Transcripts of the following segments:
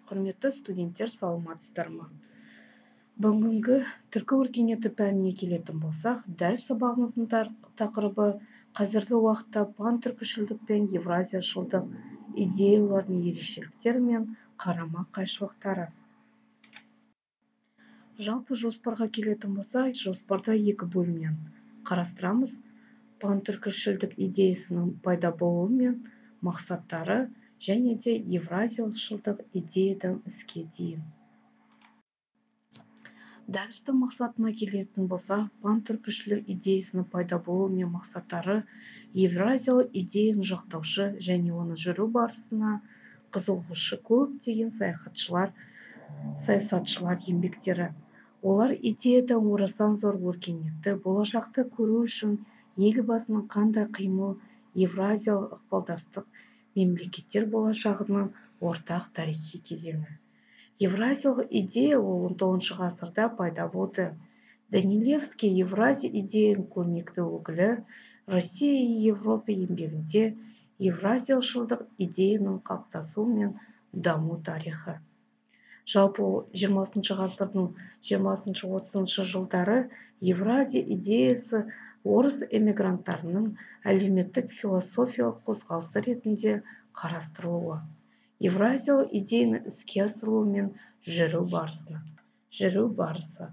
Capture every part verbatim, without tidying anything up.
Құрметті студенттер, саламатсыздар ма? Бүгінгі түркі өркениеті пәніне келетін болсақ, дәріс сабағымыздың тақырыбы қазіргі уақытта пан-түркішілдік пен евразияшылдық идеялардың ерекшеліктері мен қарама-қайшылықтары. Жалпы жоспарға келетін болсақ, жоспарда екі бөлімнен қарастырамыз. Пан-түркішілдік идеясының пайда болуы мен мақсаттары және де евразияшылдық идеядан іске дейін. Дәрістің мақсатына келетін болса, пан-түркішілік идеясының пайда болуы мен мақсаттары евразиялық идеяны жақтаушы және оны жүру барысына қызығушы көптеген саяхатшылар, саясатшылар еңбектері. Олар идеядан орасан зор өркениетті болашақты көру үшін елбасының қандай қимыл евразиялық ықпалдастық мемлекеттер болашағының ортақ тарихи кезеңі. Евразиялық идея он тоғызыншы ғасырда пайда болды. Данилевский Евразия идеяның көрнекті өкілі, Россия и Европа еңбегінде евразияшылдық идеяның қалыптасуы мен даму тарихы. Жалпы жиырмасыншы ғасырдың жиырмасыншы отызыншы жылдары Евразия идеясы орыс эмигранттарының әлеуметтік философиялық қозғалысы ретінде қарастырылуы. Евразиялық идеяны іске асыру мен жүру барысына. Жүру барысы.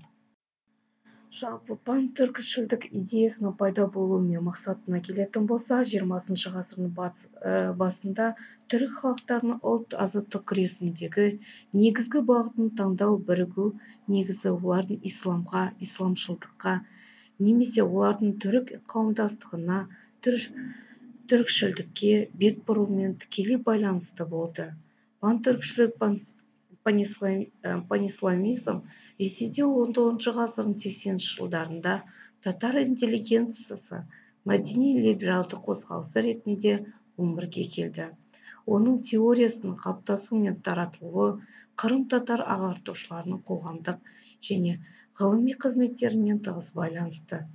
Жалпы пан-түркішілдік идеясының пайда болуы мен мақсатына келетін болса, жиырмасыншы ғасырдың басында түрік халықтарының ұлт азаттық күресіндегі негізгі бағытын таңдау бірігу негізі олардың исламға, исламшылдыққа, немесе олардың түрік қауымдастығына, түрікшілдікке бет бұрумен тікелей байланысты болды. Пан-түркішілік панисламизм Ресейде он тоғызыншы ғасырдың сексенінші жылдарында татар интеллигенциясы мәдени либералды қозғалысы ретінде өмірге келді. Оның теориясының қалыптасуы мен таратылуы қырым-татар ағартушыларының қоғамдық және ғылыми қызметтерімен тығыз байланысты.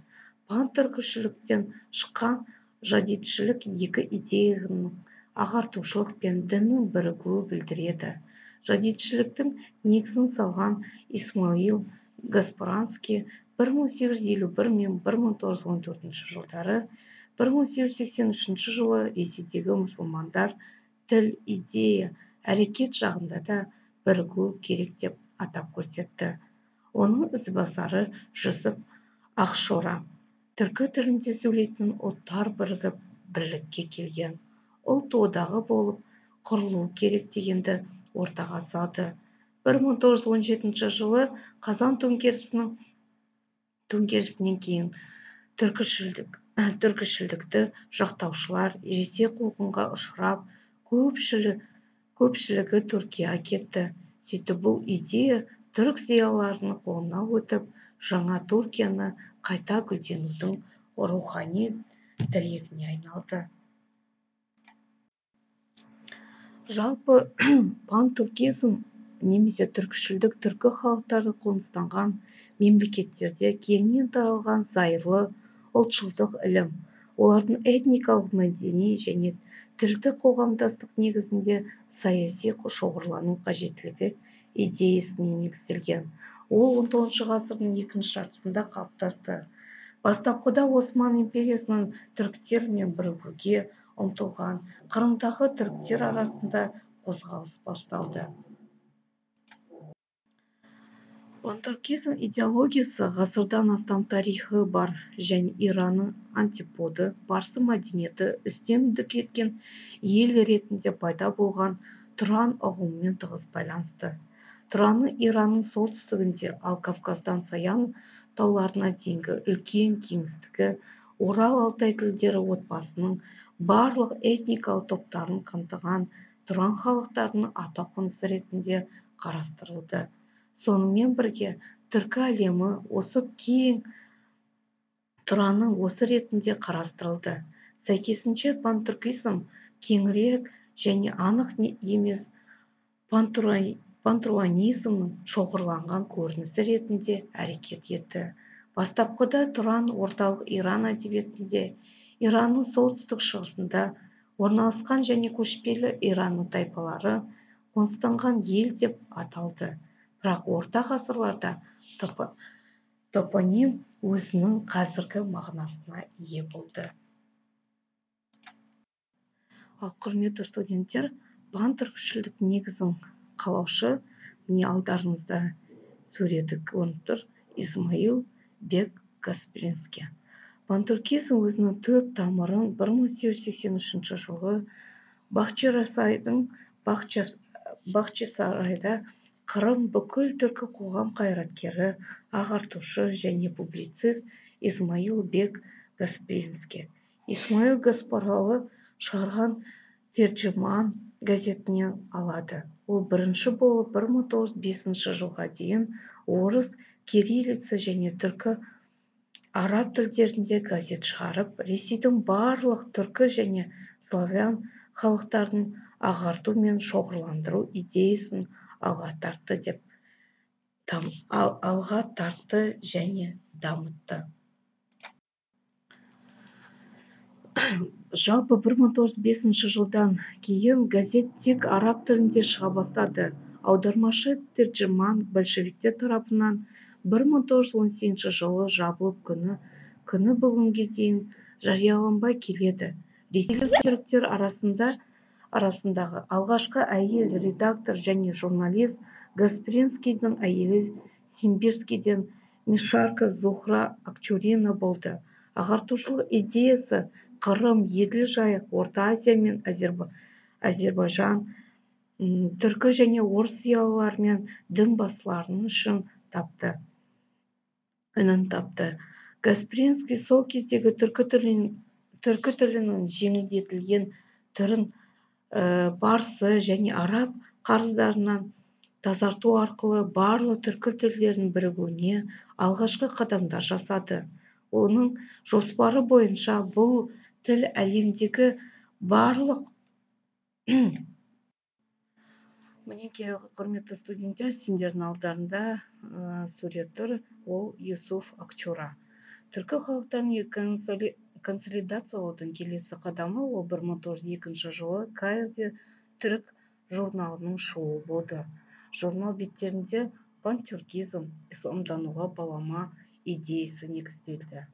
Пан-түркішіліктен шыққан жадидшілік екі идеяның ағартушылық пен діннің бірігуі білдіреді. Жадидшіліктің негізін салған Исмаил Гаспаранский бір мың сегіз жүз елу бір мен бір мың тоғыз жүз он төртінші жылдары, бір мың сегіз жүз сексен үшінші жылы Ресейдегі мұсылмандар тіл, идея, әрекет жағында да бірігу керек деп атап көрсетті. Оның ізбасары Жүсіп Ақшора. Түркі тілінде сөйлейтін ұлттар бірігіп бірлікке келген. Ұлт одағы болып құрылу керек дегенді ортаға салды. бір мың тоғыз жүз он жетінші жылы Қазан төңкерісінің төңкерісінен кейін түркішілдік, түркішілдікті жақтаушылар Ресей қуғынға ұшырап, көпшілігі, көпшілігі Түркияға кетті. Сөйтіп бұл идея түрік зиялыларының қолына өтіп, жаңа Түркияны қайта гүлденудің рухани тірегіне айналды. Жалпы пан-түркизм немесе түркішілдік түркі халықтары қоныстанған мемлекеттерде кеңінен таралған зайырлы ұлтшылдық ілім. Олардың этникалық, мәдени және тілдік қоғамдастық негізінде саяси шоғырлану қажеттілігі идеясына негізделген. Ол он тоғызыншы ғасырдың екінші жартысында қалыптасты. Бастапқыда Осман империясының түріктермен бірігуге ұмтылған Қырымдағы түріктер арасында қозғалыс басталды. Пан-түркизм идеологиясы ғасырдан астам тарихы бар және Иранның антиподы, парсы мәдениеті үстемдік еткен ел ретінде пайда болған Тұран ұғымымен тығыз байланысты. Тұранның Иранның солтүстігінде, ал Кавказдан Саян тауларына дейінгі үлкен кеңістігі Орал Алтай тілдері отбасының барлық этникалық топтарын қамтыған Тұран халықтарының атақонысы ретінде қарастырылды. Сонымен бірге түркі әлемі осы кең Тұранның осы ретінде қарастырылды. Сәйкесінше пан-түркизм кеңірек және анық емес пантуранизмнің шоғырланған көрінісі ретінде әрекет етті. Бастапқыда Тұран орталық Иран әдебиетінде, Иранның солтүстік шығысында орналасқан және көшпелі Иранның тайпалары қоныстанған ел деп аталды. Бірақ орта ғасырларда топоним өзінің қазіргі мағынасына ие болды. Ал құрметті студенттер, бан түркішілдік негізін қалаушы, міне алдарыңызда суреті көрініп тұр, Исмаил Бек Каспринский. Пантүркизм өзінің төрт тамырын бір мың сегіз жүз сексен үшінші жылы Бахчисарайдың Бахчисарайда Қырым бүкіл түркі қоғам қайраткері, ағартушы және публицист Исмаил Бек Каспринский. Исмаил Гаспаралы шығарған Терджіман газетінен алады. Ол бірінші болып бір мың тоғыз жүз бесінші жылға дейін орыс, кириллица және түркі араб тілдерінде газет шығарып, Ресейдің барлық түркі және славян халықтарын ағарту мен шоғырландыру идеясын алға тартты деп алға тартты және дамытты. Жалпы бір мың тоғыз жүз бесінші жылдан кейін газет тек араб тілінде шыға бастады. Аудармашы Терджіман большевиктер тарапынан бір мың тоғыз жүз он сегізінші жылы жабылып, күні күні бүгінге дейін жарияланбай келеді. Ресейлік түріктер арасында арасындағы алғашқы әйел редактор және журналист Гаспринскийдің әйелі Симбирскийден Мишарка Зухра Акчурина болды. Ағартушылық идеясы Қырым, Еділ жайық, Орта Азия мен Әзербайжан, түркі және орыс зиялылары мен дін басыларының үшін тапты. Үнін тапты. Гаспринский сол кездегі түркі тілінің жеңілдетілген түрін парсы және араб қарыздарынан тазарту арқылы барлық түркі тілдерінің бірігуіне алғашқы қадамдар жасады. Оның жоспары бойынша бұл тіл әлемдегі барлық Мінекей, құрметті студенттер, сендердің алдарында сурет тұр, ол Юсуф Акчура. Түркі халықтарын консолидациялаудың келесі қадамы ол бір мың тоғыз жүз екінші жылы Каирде түрік журналының шығуы болды. Журнал беттерінде пантүркизм, исламдануға балама идеясы негізделді.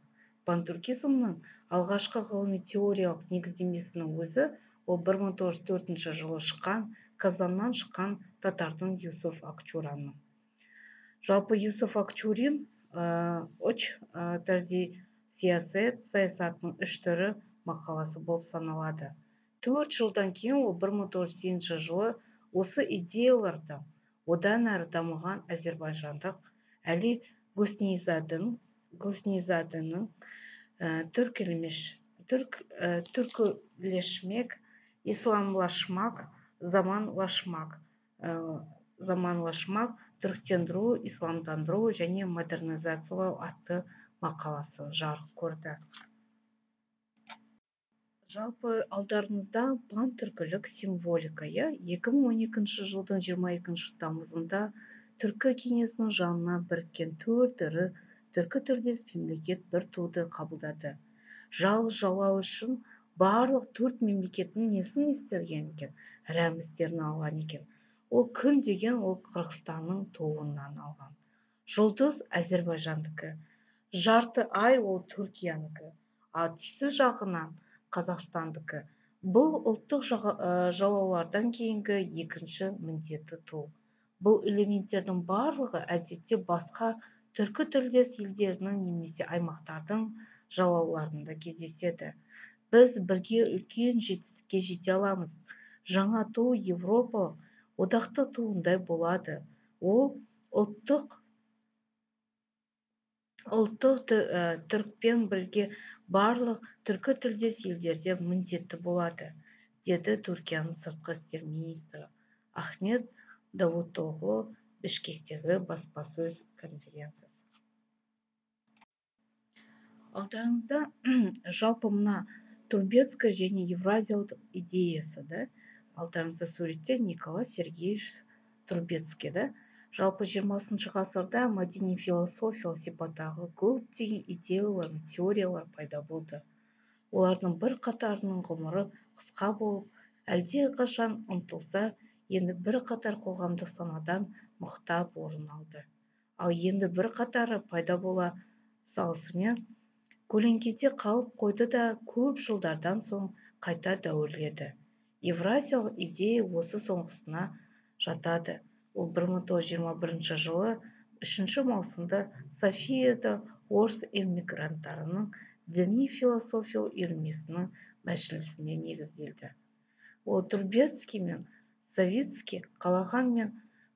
Пантүркизмнің алғашқы ғылыми теориялық негіздемесінің өзі ол бір мың тоғыз жүз төртінші жылы шыққан Казаннан шыққан татардың Юсуф Акчураның. Жалпы Юсуф Акчурин үш тарзи сиясет саясатының үш түрі мақаласы болып саналады. Төрт жылдан кейін ол бір мың тоғыз жүз сегізінші жылы осы идеяларды одан әрі дамыған әзербайжандық Әли Госнизадының түркілешмек, исламлашмак, заманлашмак, заманлашмак, түріктендіру, исламдандыру және модернизациялау атты мақаласы жарық көрді. Жалпы алдарыңызда пантүркілік символика. екі мың он екінші жылдың жиырма екінші тамызында Түркі кеңесінің жанына біріккен төрт ірі түркі тілдес мемлекет бір туды қабылдады. Жалғыз жалау үшін барлық төрт мемлекеттің несін естелген екен, рәміздерін алған екен. Ол күн деген ол Қырғызстанның туынан алған. Жұлдыз Әзербайжандікі, жарты ай ол Түркиянікі, ал түсі жағынан Қазақстандікі. Бұл ұлттық жалаулардан кейінгі екінші міндеті ту. Бұл элементтердің барлығы әдетте басқа түркі тілдес елдерінің немесе аймақтардың жалауларында кездеседі. Біз бірге үлкен жетістікке жете аламыз. Жаңа ту Европалық одақты туындай болады. Ол ұлттық ұлттық түрікпен бірге барлық түркі тілдес елдерде міндетті болады, деді Түркияның сыртқы істер министрі Ахмет Давутоғлу Бішкектегі баспасөз конференциясы. Алдарыңызда жалпы мына Турбецкая және Евразиялық идеясы да, алдарыңызда суретте Николай Сергеевич Турбецкий да. Жалпы жиырмасыншы ғасырда мәдени философиялық сипаттағы көптеген идеялар, теориялар пайда болды. Олардың бір қатарының ғұмыры қысқа болып, әлде қашан ұмытылса, енді бір қатар қоғамдық санадан мықтап орын алды. Ал енді бір қатары пайда бола салысымен көлеңкеде қалып қойды да көп жылдардан соң қайта дәуірледі. Евразиялық идея осы соңғысына жатады. Ол бір мың тоғыз жүз жиырма бірінші жылы үшінші маусымда Софияда орыс эмигранттарының діни философиялық үйірмесінің мәжілісіне негізделді. Ол Трубецкий мен Савицкий қалаған мен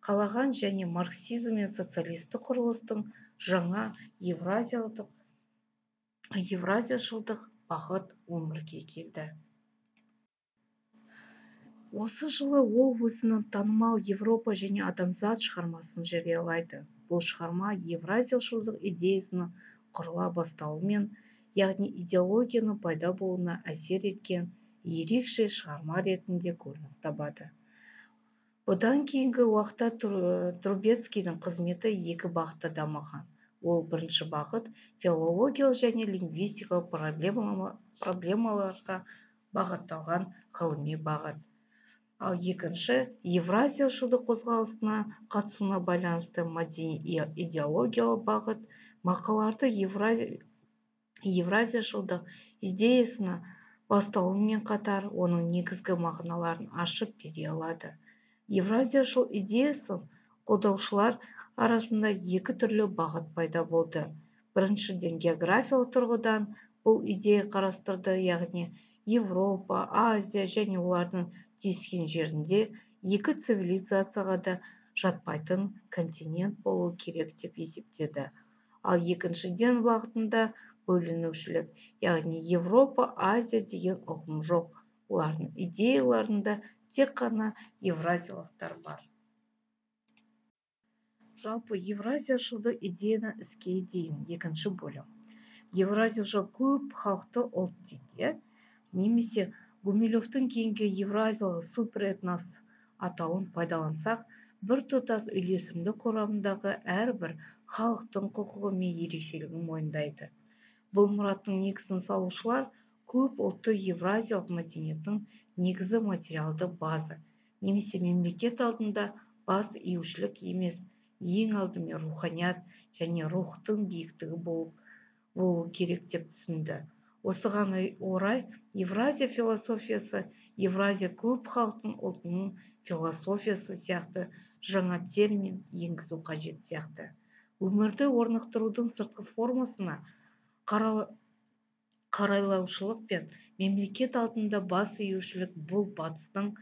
қалаған және марксизм мен социалистік құрылыстың жаңа евразиялық евразияшылдық бағыт өмірге келді. Осы жылы ол өзінің танымал Европа және адамзат шығармасын жариялайды. Бұл шығарма евразияшылдық идеясының құрыла бастауымен, яғни идеологияның пайда болуына әсер еткен ерекше шығарма ретінде көрініс табады. Бұдан кейінгі уақытта Трубецкийдің қызметі екі бағытта дамыған. Ол бірінші бағыт филологиялық және лингвистикалық проблемаларға бағытталған ғылыми бағыт. Ал екінші евразияшылдық қозғалысына қатысуына байланысты мәдени идеологиялық бағыт мақалаларды евразияшылдық идеясына бастауымен қатар оның негізгі мағыналарын ашып бере алады. Евразияшыл идеясын қолдаушылар арасында екі түрлі бағыт пайда болды. Біріншіден, географиялық тұрғыдан бұл идея қарастырды, яғни Европа, Азия және олардың түйіскен жерінде екі цивилизацияға да жатпайтын континент болу керек деп есептеді. Ал екіншіден бағытында бөлінушілік, яғни Европа, Азия деген ұғым жоқ. Олардың идеяларында тек қана евразиялықтар бар. Жалпы евразияшылдық идеяны іске дейін екінші бөлім. Евразияшыл көп халықты ұлт дейді, немесе Гумилевтің кейінгі евразиялық суперэтнос атауын пайдалансақ, бір тұтас үйлесімді құрамындағы әрбір халықтың құқығы мен ерекшелігін мойындайды. Бұл мұраттың негізін салушылар көп ұлтты евразиялық мәдениеттің негізі материалды база, немесе мемлекет алдында бас июшілік емес, ең алдымен руханият және рухтың биіктігі болу керек деп түсінді. Осыған орай Евразия философиясы, Евразия көп халықтың ұлтының философиясы сияқты жаңа термин енгізу қажет сияқты. Өмірді орнықтырудың сыртқы формасына қарайлаушылық пен мемлекет алдында бас июшілік бұл батыстың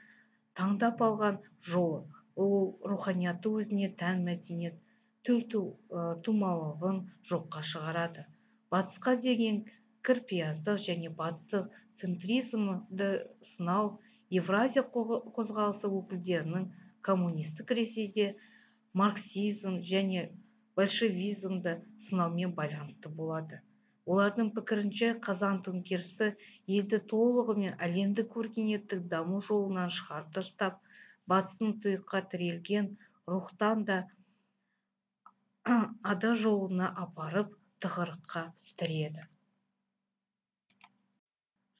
таңдап алған жолы. Ол руханияты өзіне тән мәдениет тұлтумалығын жоққа шығарады. Батысқа деген кірпияздық және батыстық центризмді сынау Евразия қозғалысы өкілдерінің коммунистік Ресейде марксизм және большевизмді сынаумен байланысты болады. Олардың пікірінше қазан төңкерісі елді толығымен әлемдік өркениеттік даму жолынан шығарып тастап, батыстың тұйыққа тірелген рухтан да ада жолына апарып тығырыққа тіреді.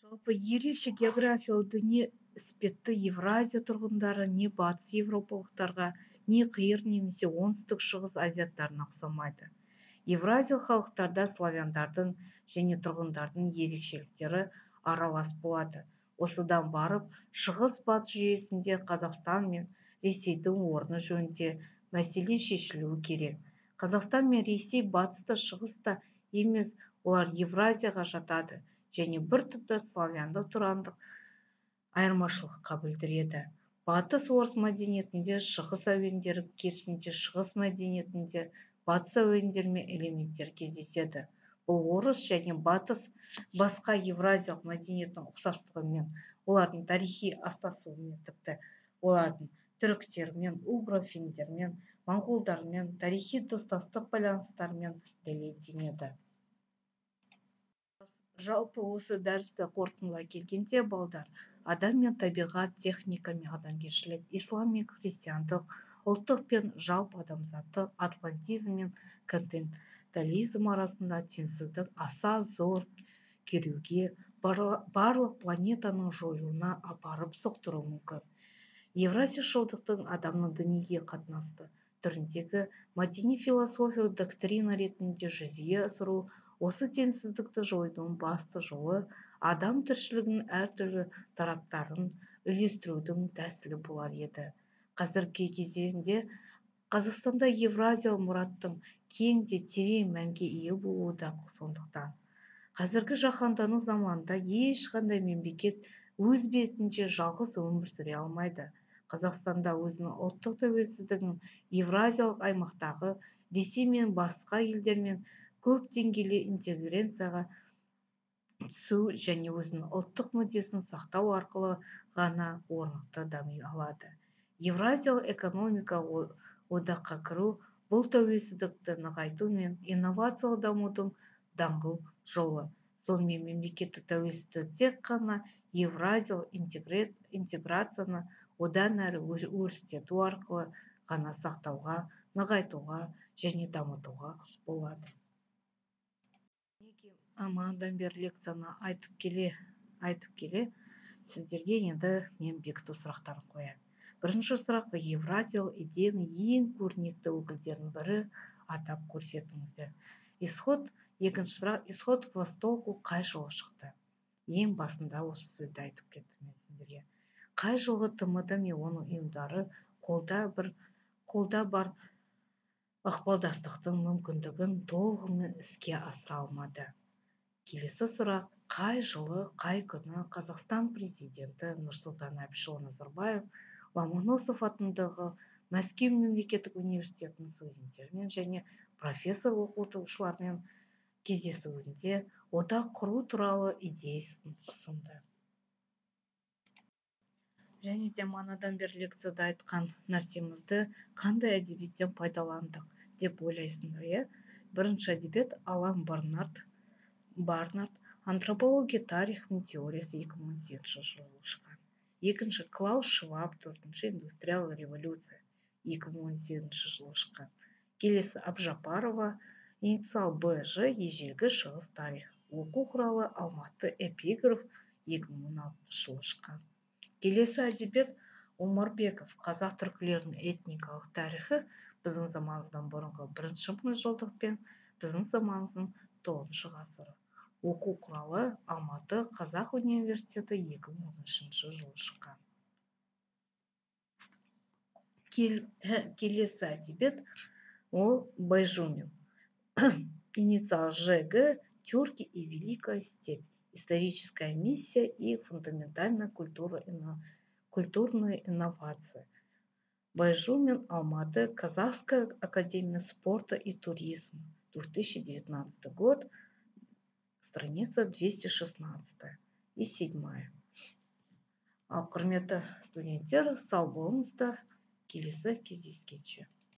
Жалпы ерекше географиялық дүние іспетті Евразия тұрғындары не батыс европалықтарға, не қиыр немесе оңтүстік шығыс азиаттарына ұқсамайды. Евразиялық халықтарда славяндардың және тұрғындардың ерекшеліктері аралас болады. Осыдан барып, шығыс-батыс жүйесінде Қазақстан мен Ресейдің орны жөнінде мәселе шешілуі керек. Қазақстан мен Ресей батыста, шығыста емес, олар Евразияға жатады және бір тұтас славяндық тұрандық айырмашылыққа білдіреді. Батыс орыс мәдениетінде шығыс әуендері, керісінше шығыс мәдениетінде батыс әуендері мен элементтер кездеседі. Бұл орыс және батыс басқа евразиялық мәдениеттің ұқсастығымен, олардың тарихи астасуымен, тіпті олардың түріктермен, угрофиндермен, моңғолдармен тарихи достастық байланыстарымен дәлелденеді. Жалпы осы дәрісті қорытындылай келгенде, балдар, адам мен табиғат, техника мен адамгершілік, ислам мен христиандық, ұлттық пен жалпы адамзаттық, атлантизм мен континентализм арасында теңсіздік аса зор күйреуге, барлық планетаның жойылуына апарып соқтыруы мүмкін. Евразияшылдықтың адамның дүниеге қатынасты түріндегі мәдени-философиялық доктрина ретінде жүзеге асыру осы теңсіздікті жоюдың басты жолы адам тіршілігінің әртүрлі тараптарын үйлестірудің тәсілі болар еді. Қазіргі кезеңде Қазақстанда евразиялық мұраттың кең де терең мәнге ие болуы да сондықтан. Қазіргі жаһандану заманында ешқандай мемлекет өз бетінше жалғыз өмір сүре алмайды. Қазақстанда өзінің ұлттық тәуелсіздігін евразиялық аймақтағы Ресей мен басқа елдермен көп деңгейлі интеграцияға түсу және өзінің ұлттық мүддесін сақтау арқылы ғана орнықты дами алады. Евразиялық экономика одаққа кіру бұл тәуелсіздікті нығайту мен инновациялық дамудың даңғыл жолы. Сонымен мемлекеттік тәуелсіздік тек қана евразиялық интеграцияны одан әрі өрістету арқылы ғана сақтауға, нығайтуға және дамытуға болады. Амандан бері лекцияны айтып келе, айтып келе, сіздерге енді мен бекіту сұрақтарын қоямын. Бірінші сұрақ: евразиялық идеяның ең көрнекті өкілдерінің бірі атап көрсетіңіздер. Исход, екінші сұрақ: исход к востоку қай жылы шықты? Ең басында осы сөзді айтып кеттім мен сіздерге. Қай жылғы ТМД мен оның ұйымдары қолда бір қолда бар ықпалдастықтың мүмкіндігін толығымен іске асыра алмады? Келесі сұрақ: қай жылы, қай күні Қазақстан президенті Нұрсұлтан Әбішұлы Назарбаев Ломоносов атындағы Мәскеу мемлекеттік университетінің студенттерімен және профессор оқытушылармен кездесуінде одақ құру туралы идеясын ұсынды? Және де манадан бері лекцияда айтқан нәрсемізді қандай әдебиеттен пайдаландық деп ойлайсыңдар, иә? Бірінші әдебиет Алан Барнард, Барнард антропология тарихының теориясы екі мың он сегізінші жылы шыққан. Екінші Клаус Шваб, төртінші индустриялық революция екі мың он сегізінші жылы шыққан. Келесі Абжапарова, инициал Б Ж, ежелгі шығыс тарих. Оқу құралы Алматы эпиграф екі мың он алтыншы жылы шыққан. Келесі әдебиет Омарбеков, қазақ түркілерінің этникалық тарихы біздің заманымыздан бұрынғы бірінші мыңжылдық пен біздің заманымыздың тоғызыншы ғасыры. Оқу құралы Алматы қазақ университеті екі мың он үшінші жылы шыққан. Келесі әдебиет ол Байжумин, инициал Ж Г, Тюрки и Великая степь. Историческая миссия и фундаментальная культура, культурная инновация. Байжумин, Алматы, Казахская академия спорта и туризма, две тысячи девятнадцатый год, страница двести шестнадцать и седьмая. Ал құрметті студенттер, сау болыңыздар, келесі кездескенше.